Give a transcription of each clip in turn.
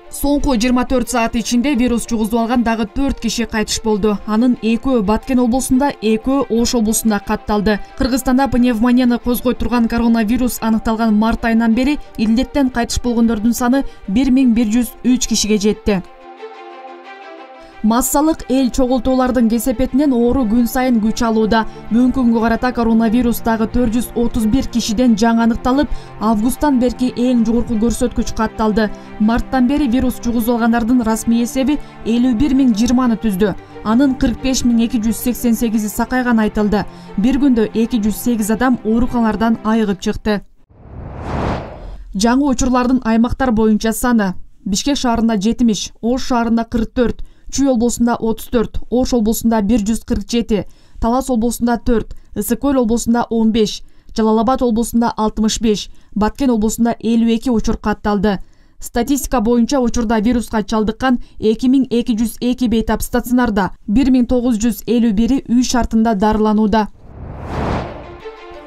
Соңку 24 саат ичинде вирус жугузуп алган дагы 4 киши кайтыш болду. Анын 2-өө Баткен облусунда, 2-өө Ош облусунда катталды. Кыргызстанда пневмонияны козгой турган коронавирус аныкталган март айынан бери илдеттен кайтыш болгондордун саны 1103 кишиге жетти. Массалык эл чогултуулардын кесепетинен оору күн сайын күч алууда. Бүгүнкү күнгө карата коронавирус дагы 431 кишиден жаңы аныкталып, августтан берки эң жогорку көрсөткүч катталды. Марттан бери вирус жугузуп алгандардын расмий эсеби 51.020 түздү. Анын 45.288 сакайган айтылды. Бир күндө 208 адам ооруканалардан айыгып чыкты. Жаңы учурлардын аймактар боюнча саны: Бишкек шаарында 70, Ош шаарында 44, Чүй облусунда 34, Ош облусунда 147, Талас облусунда 4, Ысык-Көл облусунда 15, Жалал-Абад облусунда 65, Баткен облусунда 52 учур катталды. Статистика боюнча учурда вируска чалдыккан 2202 бейтап стационарда, 1951 үй шартында дарыланууда.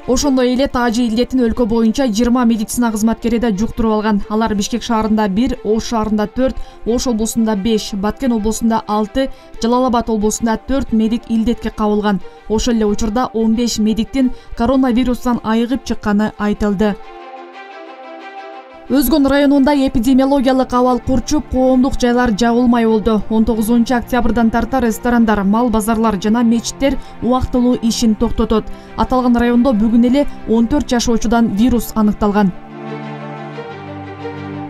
Ошондой эле таажы илдетин өлкө боюнча 20 медицина кызматкери да жуктуруп алган. Алар Бишкек шаарында 1, Ош шаарында 4, Ош облусунда 5, Баткен облусунда 6, Жалал-Абад облусунда 4 медик илдетке кабылган. Ошол эле учурда 15 медиктин коронавирустан айыгып чыкканы айтылды. Өзгөн районунда эпидемиологиялык абал курчуп, коомдук жайлар жабылмай болду. 19 октябрдан тарта ресторандар, мал базарлар жана мечиттер убактылуу ишин токтотот. Аталган райондо бүгүн эле 14 жашоочудан вирус аныкталган.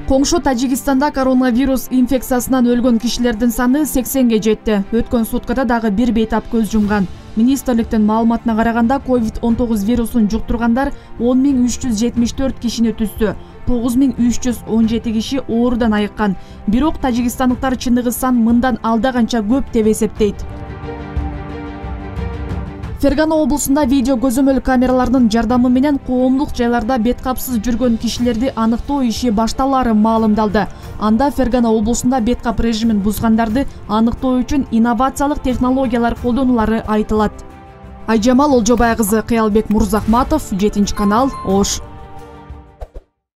Коңшу Тажикстанда коронавирус инфекциясынан өлгөн кишилердин саны 80ге жетти. Өткөн суткада дагы бир бейтап көз жумган. Министрликтин маалыматына караганда COVID-19 вирусун жуктургандар 10.374 кишини түздү. 9.317 киши оорудан айыккан. Бирок тажикстандыктар чындыгы сан мындан алда канча көп деп эсептейт. Фергана облусунда видео көзөмөл камераларынын жардамы менен коомдук жайларда бет капсыз жүргөн кишилерди аныктоо иши башталаары маалымдалды. Анда Фергана облусунда бет кап режимин бузгандарды аныктоо үчүн инновациялык технологиялар колдонулары айтылат. Айжамал Олжобай кызы, Кыялбек Мурзахматов, 7 канал, Ош.